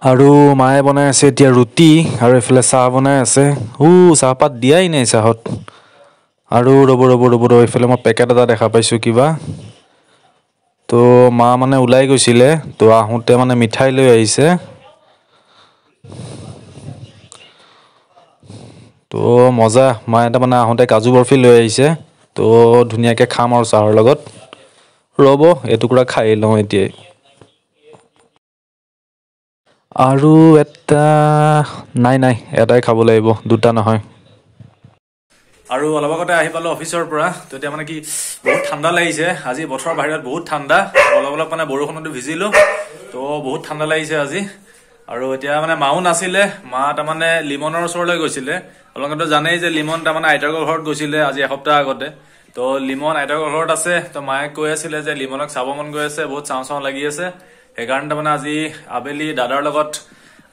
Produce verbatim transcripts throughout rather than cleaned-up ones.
আৰু মায়ে বনাই আছে এতিয়া ৰুটি আৰু এইফালে চাহ বনাই আছে। উ চাহপাত দিয়াই নাই চাহত। আৰু ৰ'ব ৰ'ব ৰ'ব ৰ'ব, এইফালে মই পেকেট এটা দেখা পাইছোঁ কিবা। তো মা মানে ওলাই গৈছিলে, তো আহোঁতে মানে মিঠাই লৈ আহিছে। তো মজা, মায়ে তাৰমানে আহোঁতে কাজু বৰফি লৈ আহিছে। তো ধুনীয়াকৈ খাম আৰু চাহৰ লগত। ৰ'ব এটুকুৰা খাই লওঁ এতিয়াই। আৰু এটা নাই নাই এটাই খাব লাগিব, দুটা নহয়। আৰু অলপ আগতে আহি পালোঁ অফিচৰ পৰা। তো এতিয়া মানে কি বহুত ঠাণ্ডা লাগিছে আজি, বতৰৰ বাহিৰত বহুত ঠাণ্ডা। অলপ অলপ মানে বৰষুণতো ভিজিলোঁ, তো বহুত ঠাণ্ডা লাগিছে আজি। আৰু এতিয়া মানে মাও নাছিলে, মা তাৰমানে লিমনৰ ওচৰলৈ গৈছিলে। আপোনালোকেতো জানেই যে লিমন তাৰমানে আইতাকৰ ঘৰত গৈছিলে আজি এসপ্তাহ আগতে। তো লিমন আইতাকৰ ঘৰত আছে। তো মায়ে কৈ আছিলে যে লিমনক চাব মন গৈ আছে, বহুত চাওঁ চাওঁ লাগি আছে। সেইকাৰণে তাৰমানে আজি আবেলি দাদাৰ লগত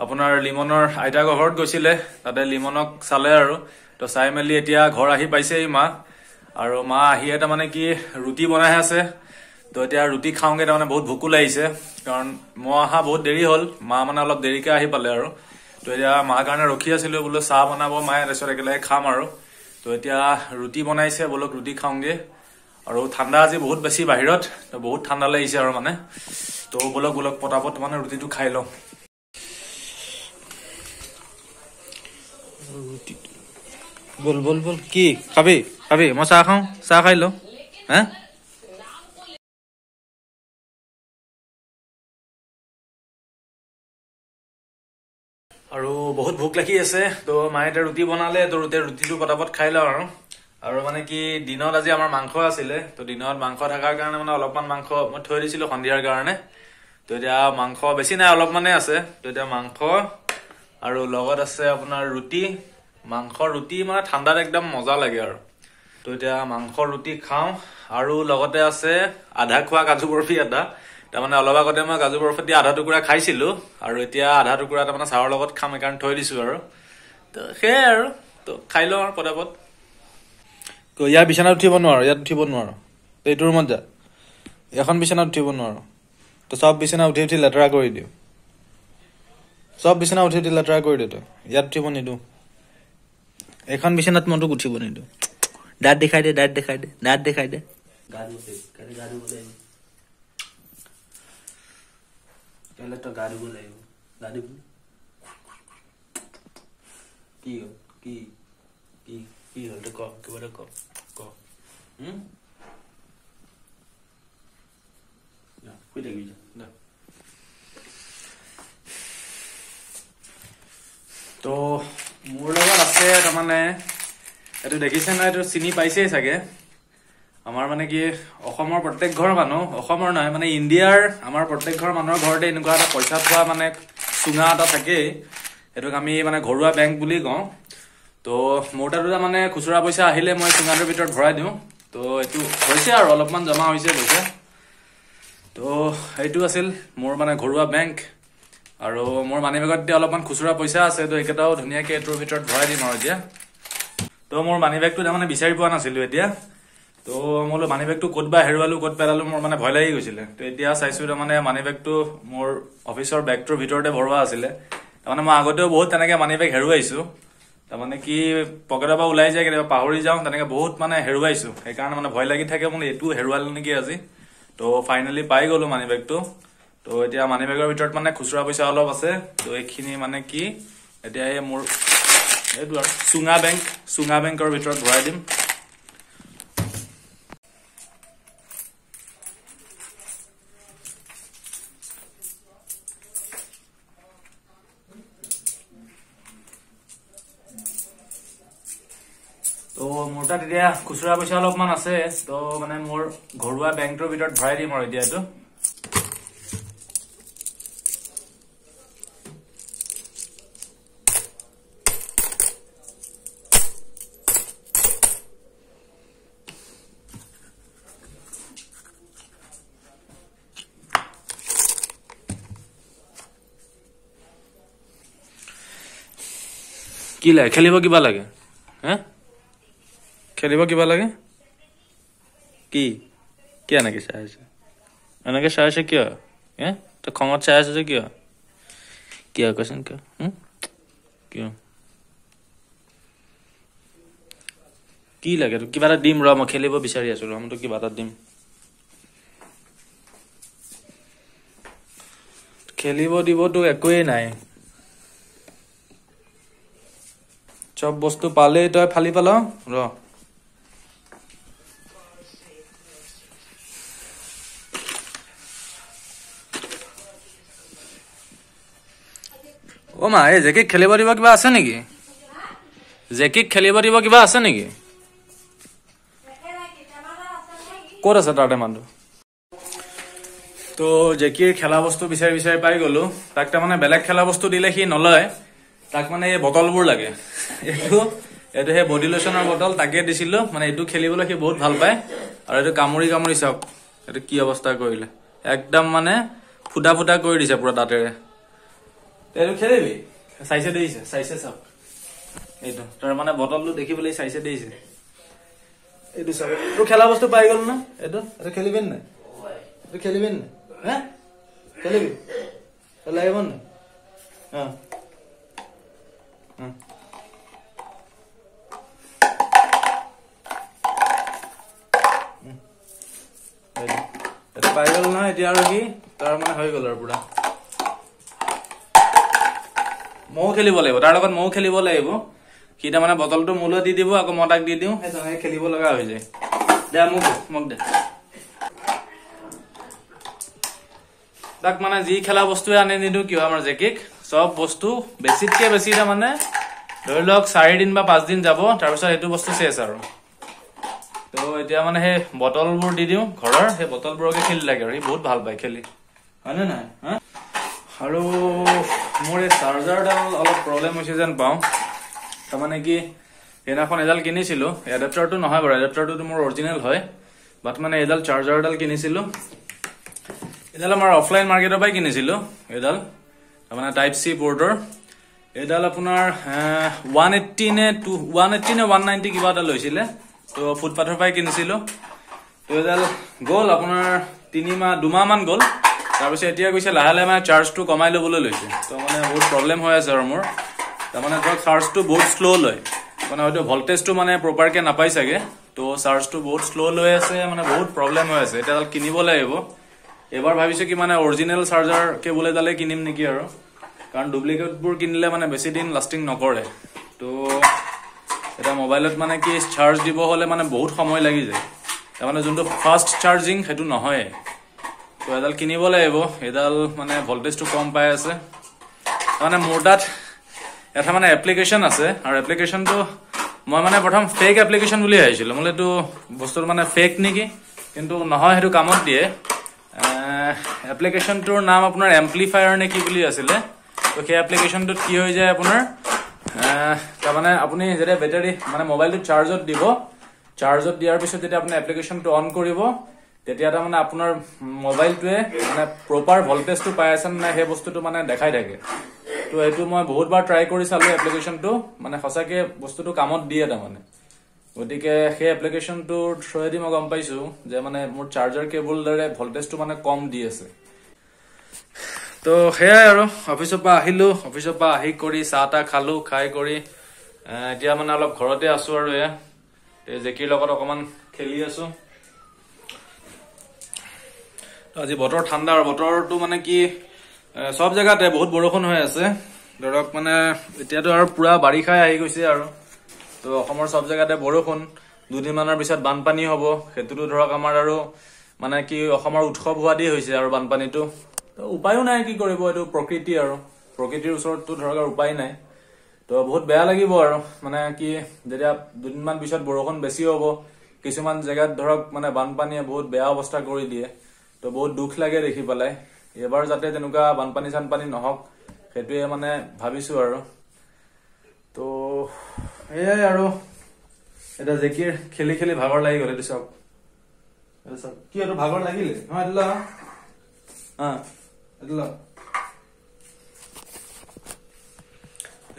আপোনাৰ লিমনৰ আইতাকৰ ঘৰত গৈছিলে, তাতে লিমনক চালে আৰু। তো চাই মেলি এতিয়া ঘৰ আহি পাইছেহি মা। আৰু মা আহিয়ে তাৰমানে কি ৰুটি বনাই আছে। তো এতিয়া ৰুটি খাওঁগে, তাৰমানে বহুত ভোকো লাগিছে, কাৰণ মই অহা বহুত দেৰি হ'ল, মা মানে অলপ দেৰিকৈ আহি পালে আৰু। তো এতিয়া মাৰ কাৰণে ৰখি আছিলোঁ, বোলো চাহ বনাব মায়ে, তাৰপিছত একেলগে খাম আৰু। তো এতিয়া ৰুটি বনাইছে, বোলক ৰুটি খাওঁগে। আৰু ঠাণ্ডা আজি বহুত বেছি বাহিৰত, তো বহুত ঠাণ্ডা লাগিছে আৰু মানে। তো বোলক বোলক পটাপট মানে ৰুটিটো খাই লওঁ। বল বল বল, কি খাবি খাবি? মই চাহ খাওঁ, চাহ খাই লওঁ। হা, আৰু বহুত ভোক লাগি আছে। তো মায়ে এতিয়া ৰুটি বনালে, তো ৰুটি ৰুটিটো পটাপট খাই লওঁ আৰু। আৰু মানে কি দিনত আজি আমাৰ মাংস আছিলে, তো দিনত মাংস থকাৰ কাৰণে মানে অলপমান মাংস মই থৈ দিছিলোঁ সন্ধিয়াৰ কাৰণে। তো এতিয়া মাংস বেছি নাই, অলপমানে আছে। তো এতিয়া মাংস আৰু লগত আছে আপোনাৰ ৰুটি। মাংস ৰুটি মানে ঠাণ্ডাত একদম মজা লাগে আৰু। তো এতিয়া মাংস ৰুটি খাওঁ আৰু লগতে আছে আধা খোৱা কাজু বৰফি এটা। তাৰমানে অলপ আগতে মই কাজু বৰফি দি আধা টুকুৰা খাইছিলোঁ, আৰু এতিয়া আধা টুকুৰা তাৰমানে চাহৰ লগত খাম, সেইকাৰণে থৈ দিছোঁ আৰু। তো সেয়াই আৰু, তো খাই লওঁ আৰু পটাপট। ইয়াৰ বিচনাত উঠিব নোৱাৰো, ইয়াত উঠিব নোৱাৰো, এইটো ৰুমত যা। এখন বিচনাত উঠিব নোৱাৰো, তো চব বিচনা উঠি উঠি লেতেৰা কৰি দিওঁ, চব বিচনা উঠি উঠি লেতেৰা কৰি দিওঁ। তই ইয়াত উঠিব নিদিওঁ, এইখন বিচনাত মই তোক উঠিব নিদিওঁ। দাঁত দেখাই দে, দাঁত দেখাই দে, দাঁত দেখাই দে। গা ধুব লাগিব, কাইলৈ গা ধুব লাগিব, কাইলৈ তই গা ধুব লাগিব। গা ধুবি কি হ'ল? কি কি কি হ'ল? তই ক, কিবা এটা ক, ক। শুই থাকিবি যা। তো মোৰ লগত আছে তাৰমানে এইটো দেখিছে নহয়, এইটো চিনি পাইছেই চাগে। আমাৰ মানে কি অসমৰ প্ৰত্যেক ঘৰ মানুহ, অসমৰ নহয় মানে ইণ্ডিয়াৰ আমাৰ প্ৰত্যেক ঘৰ মানুহৰ ঘৰতে এনেকুৱা এটা পইচা থোৱা মানে চুঙা এটা থাকেই। সেইটোক আমি মানে ঘৰুৱা বেংক বুলি কওঁ। তো মোৰ তাতো মানে খুচুৰা পইচা আহিলে মই চুঙাটোৰ ভিতৰত ভৰাই দিওঁ। তো এইটো হৈছে আৰু অলপমান জমা হৈছে পইচা। তো সেইটো আছিল মোৰ মানে ঘৰুৱা বেংক। আৰু মোৰ মানি বেগত এতিয়া অলপমান খুচুৰা পইচা আছে, তো এইকেইটাও ধুনীয়াকৈ এইটোৰ ভিতৰত ভৰাই দিম আৰু এতিয়া। তো মোৰ মানি বেগটো তাৰমানে বিচাৰি পোৱা নাছিলোঁ এতিয়া। তো মই বোলো মানি বেগটো ক'ত বা হেৰুৱালোঁ, ক'ত পেলালোঁ, মোৰ মানে ভয় লাগি গৈছিলে। তো এতিয়া চাইছোঁ তাৰমানে মানি বেগটো মোৰ অফিচৰ বেগটোৰ ভিতৰতে ভৰোৱা আছিলে। তাৰমানে মই আগতেও বহুত তেনেকৈ মানি বেগ হেৰুৱাইছোঁ, তাৰমানে কি পকেটৰ পৰা ওলাই যায়, কেতিয়াবা পাহৰি যাওঁ, তেনেকৈ বহুত মানে হেৰুৱাইছোঁ। সেইকাৰণে মানে ভয় লাগি থাকে, বোলো এইটো হেৰুৱালোঁ নেকি আজি। তো ফাইনেলি পাই গ'লোঁ মানি বেগটো। তো এতিয়া মানি বেগৰ ভিতৰত মানে খুচুৰা পইচা অলপ আছে। তো এইখিনি মানে কি এতিয়া এই মোৰ এইটো আৰু চুঙা বেংক, চুঙা বেংকৰ ভিতৰত ভৰাই দিম। তো মোৰ তাত এতিয়া খুচুৰা পইচা অলপমান আছে, তো মানে মোৰ ঘৰুৱা বেংকটোৰ ভিতৰত ভৰাই দিম আৰু এতিয়া এইটো। কি লাগে? খেলিব কিবা লাগে? হে, খেলিব কিবা লাগে? কি কি এনেকে চাই আছে? এনেকে চাই আছে কিয়? হে, তই খঙত চাই আছ যে কিয়? কিয় কচোন, কিয় কিয় কি লাগে তোক? কিবা এটা দিম ৰ, মই খেলিব বিচাৰি আছো ৰ, মই তোক কিবা এটা দিম। খেলিব দিব তোক একোৱেই নাই, চব বস্তু পালেই তই ফালি পাল ৰ। অ মা, এই জেকিক খেলিব দিব কিবা আছে নেকি? জেকিক খেলিব দিব কিবা আছে নেকি? ক'ত আছে তাৰ টেমাটো? তো জেকিৰ খেলা বস্তু বিচাৰি বিচাৰি পাই গলো। তাক তাৰমানে বেলেগ খেলা বস্তু দিলে সি নলয়, তাক মানে এই বটলবোৰ লাগে। এইটো এইটো সেই বডি লোচনৰ বটল, তাকে দিছিলো। মানে এইটো খেলিবলৈ সি বহুত ভাল পায়। আৰু এইটো কামুৰি কামুৰি চাওক এইটো কি অৱস্থা কৰিলে, একদম মানে ফুটা ফুটা কৰি দিছে পুৰা দাঁতেৰে। এইটো খেলিবি? চাইছে দেখিছে, চাইছে চাওক এইটো তাৰ মানে বটলটো দেখিবলৈ চাইছে দেখিছে। এইটো চাওক, তোৰ খেলা বস্তু পাই গ'ল ন? এইটো এইটো খেলিবি নাই? এইটো খেলিবি নাই? হে খেলিবি লাগিব নাই? অ এইটো পাই গ'ল নহয় এতিয়া, আৰু কি তাৰ মানে হৈ গ'ল আৰু পুৰা। ময়ো খেলিব লাগিব তাৰ লগত, ময়ো খেলিব লাগিব। সি তাৰমানে বটলটো মোলৈ দি দিব, আকৌ মই তাক দি দিওঁ, সেই তেনেকে খেলিব লগা হৈ যায়। দে মোক দে, মোক দে। তাক মানে যি খেলা বস্তুৱে আনি নিদিওঁ কিয়, আমাৰ জেকিক চব বস্তু বেছিতকে বেছি তাৰমানে ধৰি লওক চাৰিদিন বা পাঁচদিন যাব, তাৰপিছত সেইটো বস্তু চেচ আৰু। তো এতিয়া মানে সেই বটলবোৰ দি দিওঁ ঘৰৰ, সেই বটলবোৰকে খেলি লাগে আৰু সি বহুত ভাল পায় খেলি, হয়নে নহয়? হা, আৰু মোৰ এই চাৰ্জাৰডাল অলপ প্ৰব্লেম হৈছে যেন পাওঁ। তাৰমানে কি, সেইদিনাখন এডাল কিনিছিলোঁ, এডাপ্টাৰটো নহয় বাৰু, এডাপ্টাৰটোতো মোৰ অৰিজিনেল হয়, বাট মানে এইডাল চাৰ্জাৰডাল কিনিছিলোঁ, এইডাল আমাৰ অফলাইন মাৰ্কেটৰ পৰাই কিনিছিলোঁ। এইডাল তাৰমানে টাইপ চি পৰ্টৰ, এইডাল আপোনাৰ ওৱান এইট্টি নে টু ওৱান এইট্টি নে ওৱান নাইণ্টি কিবা এটা লৈছিলে। তো ফুটপাথৰ পৰাই কিনিছিলোঁ। তো এইডাল গ'ল আপোনাৰ তিনিমাহ দুমাহমান গ'ল। তাৰপিছত এতিয়া গৈছে লাহে লাহে মানে চাৰ্জটো কমাই ল'বলৈ লৈছে। তো মানে বহুত প্ৰব্লেম হৈ আছে আৰু মোৰ। তাৰমানে ধৰক চাৰ্জটো বহুত শ্ল' লয়, মানে হয়তো ভল্টেজটো মানে প্ৰপাৰকে নাপায় চাগে। তো চাৰ্জটো বহুত শ্ল' লৈ আছে, মানে বহুত প্ৰব্লেম হৈ আছে। এতিয়া এডাল কিনিব লাগিব। এইবাৰ ভাবিছোঁ কি মানে অৰিজিনেল চাৰ্জাৰ কেবুল এডালেই কিনিম নেকি আৰু, কাৰণ ডুপ্লিকেটবোৰ কিনিলে মানে বেছি দিন লাষ্টিং নকৰে। তো এতিয়া মোবাইলত মানে কি চাৰ্জ দিব হ'লে মানে বহুত সময় লাগি যায়, তাৰমানে যোনটো ফাষ্ট চাৰ্জিং সেইটো নহয়ে। তো এডাল কিনিব লাগিব। এইডাল মানে ভল্টেজটো কম পাই আছে। তাৰমানে মোৰ তাত এটা মানে এপ্লিকেশ্যন আছে, আৰু এপ্লিকেশ্যনটো মই মানে প্ৰথম ফেক এপ্লিকেশ্যন বুলি ভাবিছিলোঁ, বোলে এইটো বস্তুটো মানে ফেক নেকি, কিন্তু নহয়, সেইটো কামত দিয়ে। এপ্লিকেশ্যনটোৰ নাম আপোনাৰ এম্প্লিফায়াৰ নে কি বুলি আছিলে। তো সেই এপ্লিকেশ্যনটোত কি হৈ যায় আপোনাৰ, তাৰমানে আপুনি যেতিয়া বেটাৰী মানে মোবাইলটো চাৰ্জত দিব, চাৰ্জত দিয়াৰ পিছত যেতিয়া আপুনি এপ্লিকেশ্যনটো অন কৰিব, তেতিয়া তাৰমানে আপোনাৰ মোবাইলটোৱে মানে প্ৰপাৰ ভল্টেজটো পাই আছে নে নাই সেই বস্তুটো মানে দেখাই থাকে। তো এইটো মই বহুতবাৰ ট্ৰাই কৰি চালোঁ এপ্লিকেশ্যনটো, মানে সঁচাকৈ বস্তুটো কামত দিয়ে তাৰমানে। গতিকে সেই এপ্লিকেশ্যনটোৰ থ্ৰুৱেদি মই গম পাইছোঁ যে মানে মোৰ চাৰ্জাৰ কেবুল দৰে ভল্টেজটো মানে কম দি আছে। তো সেয়াই আৰু, অফিচৰ পৰা আহিলোঁ, অফিচৰ পৰা আহি কৰি চাহ তাহ খালোঁ, খাই কৰি এতিয়া মানে অলপ ঘৰতে আছোঁ আৰু। এয়া জেকিৰ লগত অকণমান খেলি আছোঁ। আজি বতৰ ঠাণ্ডা আৰু বতৰটো মানে কি চব জেগাতে বহুত বৰষুণ হৈ আছে ধৰক, মানে এতিয়াতো আৰু পুৰা বাৰিষাই আহি গৈছে আৰু। তো অসমৰ চব জেগাতে বৰষুণ, দুদিনমানৰ পিছত বানপানী হ'ব, সেইটোতো ধৰক আমাৰ আৰু মানে কি অসমৰ উৎসৱ হোৱা দি হৈছে আৰু বানপানীটো। তো উপায়ো নাই, কি কৰিব, এইটো প্ৰকৃতি আৰু, প্ৰকৃতিৰ ওচৰততো ধৰক আৰু উপায় নাই। তো বহুত বেয়া লাগিব আৰু, মানে কি যেতিয়া দুদিনমান পিছত বৰষুণ বেছি হ'ব, কিছুমান জেগাত ধৰক মানে বানপানীয়ে বহুত বেয়া অৱস্থা কৰি দিয়ে। তো বহুত দুখ লাগে দেখি পেলাই। এইবাৰ যাতে তেনেকুৱা বানপানী চানপানী নহওক, সেইটোৱে মানে ভাবিছোঁ আৰু। তো সেয়াই আৰু, এতিয়া জেকিৰ খেলি খেলি ভাগৰ লাগি গ'ল। এইটো চাওক, এইটো চাওক, কি এইটো ভাগৰ লাগিলে নহয়, এইটো ল, অঁ এইটো ল,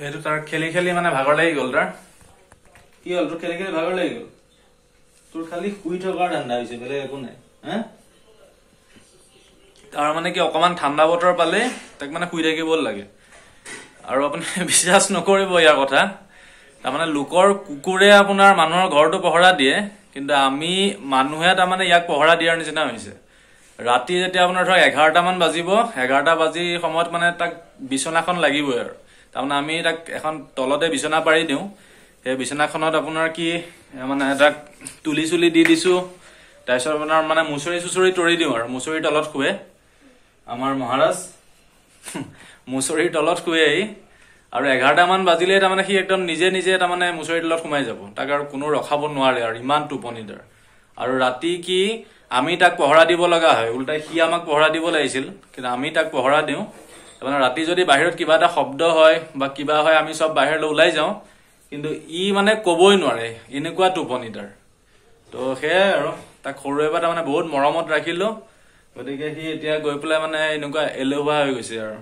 এইটো তাৰ খেলি খেলি মানে ভাগৰ লাগি গ'ল তাৰ। কি হ'ল তোৰ খেলি খেলি ভাগৰ লাগি গ'ল? তোৰ খালি শুই থকাৰ ধান্দা হৈছে, বেলেগ একো নাই। হা, তাৰ মানে কি অকণমান ঠাণ্ডা বতৰ পালে তাক মানে শুই থাকিব লাগে। আৰু আপুনি বিশ্বাস নকৰিব ইয়াৰ কথা, তাৰমানে লোকৰ কুকুৰে আপোনাৰ মানুহৰ ঘৰটো পহৰা দিয়ে, কিন্তু আমি মানুহে তাৰমানে ইয়াক পহৰা দিয়াৰ নিচিনা হৈছে। ৰাতি যেতিয়া আপোনাৰ ধৰক এঘাৰটামান বাজিব, এঘাৰটা বাজি সময়ত মানে তাক বিচনাখন লাগিবই আৰু। তাৰমানে আমি তাক এখন তলতে বিচনা পাৰি দিওঁ, সেই বিচনাখনত আপোনাৰ কি মানে তাক তুলি চুলি দি দিছোঁ, তাৰপিছত আপোনাৰ মানে মুচৰি চুচৰি তৰি দিওঁ আৰু, মুচৰিৰ তলত শুৱে আমাৰ মহাৰাজ, মুচৰিৰ তলত শুৱে সি। আৰু এঘাৰটামান বাজিলেই তাৰমানে সি একদম নিজে নিজে তাৰমানে মুচৰিৰ তলত সোমাই যাব, তাক আৰু কোনো ৰখাব নোৱাৰে আৰু, ইমান টোপনি তাৰ। আৰু ৰাতি কি আমি তাক পহৰা দিব লগা হয়, উল্টাই সি আমাক পহৰা দিব লাগিছিল, কিন্তু আমি তাক পহৰা দিওঁ। তাৰমানে ৰাতি যদি বাহিৰত কিবা এটা শব্দ হয় বা কিবা হয়, আমি চব বাহিৰলৈ ওলাই যাওঁ, কিন্তু ই মানে ক'বই নোৱাৰে, এনেকুৱা টোপনি তাৰ। তো সেয়াই আৰু, তাক সৰুৰে পৰা তাৰমানে বহুত মৰমত ৰাখিলোঁ, গতিকে সি এতিয়া গৈ পেলাই মানে এনেকুৱা এলেহুৱা হৈ গৈছে আৰু।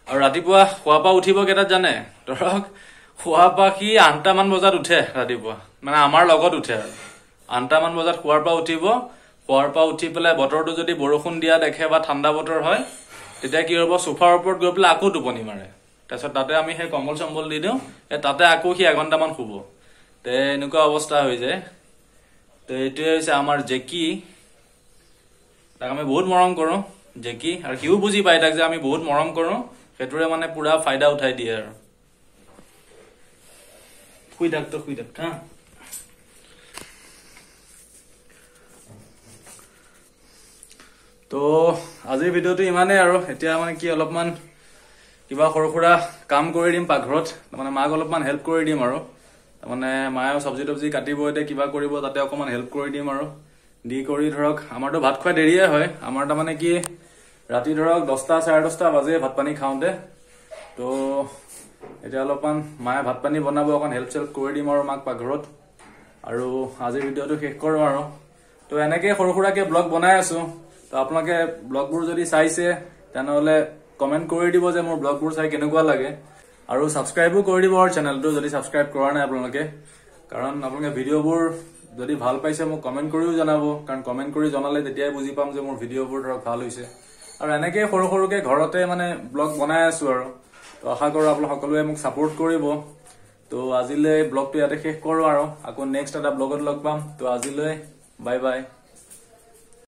আৰু ৰাতিপুৱা শোৱাৰ পৰা উঠিব কেইটাত জানে? ধৰক শোৱাৰ পৰা সি আঠটামান বজাত উঠে ৰাতিপুৱা, মানে আমাৰ লগত উঠে আৰু। আঠটামান বজাত শোৱাৰ পৰা উঠিব, শোৱাৰ পৰা উঠি পেলাই বতৰটো যদি বৰষুণ দিয়া দেখে বা ঠাণ্ডা বতৰ হয়, তেতিয়া কি হ'ব, চোফাৰ ওপৰত গৈ পেলাই আকৌ টোপনি মাৰে। তাৰপিছত তাতে আমি সেই কম্বল চম্বল দি দিওঁ, তাতে আকৌ সি এঘণ্টামান শুব। তে এনেকুৱা অৱস্থা হৈ যায়। তো এইটোৱে হৈছে আমাৰ জেকি, তাক আমি বহুত মৰম কৰোঁ জেকি, আৰু সিও বুজি পায় তাক যে আমি বহুত মৰম কৰোঁ, সেইটোৰে মানে পুৰা ফাইদা উঠাই দিয়ে আৰু। শুই থাক তই, শুই থাক হা। তো আজিৰ ভিডিঅ'টো ইমানেই আৰু। এতিয়া মানে কি অলপমান কিবা সৰু সুৰা কাম কৰি দিম পাকঘৰত, তাৰমানে মাক অলপমান হেল্প কৰি দিম আৰু। তাৰমানে মায়ে চব্জি তব্জি কাটিব, এতিয়া কিবা কৰিব, তাতে অকণমান হেল্প কৰি দিম আৰু। দি কৰি ধৰক আমাৰতো ভাত খোৱা দেৰিয়ে হয়, আমাৰ তাৰমানে কি ৰাতি ধৰক দহটা চাৰে দহটা বাজে ভাত পানী খাওঁতে। তো এতিয়া অলপমান মায়ে ভাত পানী বনাব, অকণ হেল্প চেল্প কৰি দিম আৰু মাক পাকঘৰত। আৰু আজিৰ ভিডিঅ'টো শেষ কৰোঁ আৰু। তো এনেকেই সৰু সুৰাকৈ ব্লগ বনাই আছোঁ, তো আপোনালোকে ব্লগবোৰ যদি চাইছে তেনেহ'লে কমেণ্ট কৰি দিব যে মোৰ ব্লগবোৰ চাই কেনেকুৱা লাগে, আৰু ছাবস্ক্ৰাইবো কৰি দিব আৰু চেনেলটো যদি ছাবস্ক্ৰাইব কৰা নাই আপোনালোকে। কাৰণ আপোনালোকে ভিডিঅ'বোৰ যদি ভাল পাইছে মোক কমেণ্ট কৰিও জনাব, কাৰণ কমেণ্ট কৰি জনালে তেতিয়াই বুজি পাম যে মোৰ ভিডিঅ'বোৰ ধৰক ভাল হৈছে। আৰু এনেকেই সৰু সৰুকৈ ঘৰতে মানে ব্লগ বনাই আছোঁ আৰু। তো আশা কৰোঁ আপোনালোক সকলোৱে মোক ছাপোৰ্ট কৰিব। তো আজিলৈ ব্লগটো ইয়াতে শেষ কৰোঁ আৰু, আকৌ নেক্সট এটা ব্লগত লগ পাম। তো আজিলৈ বাই বাই।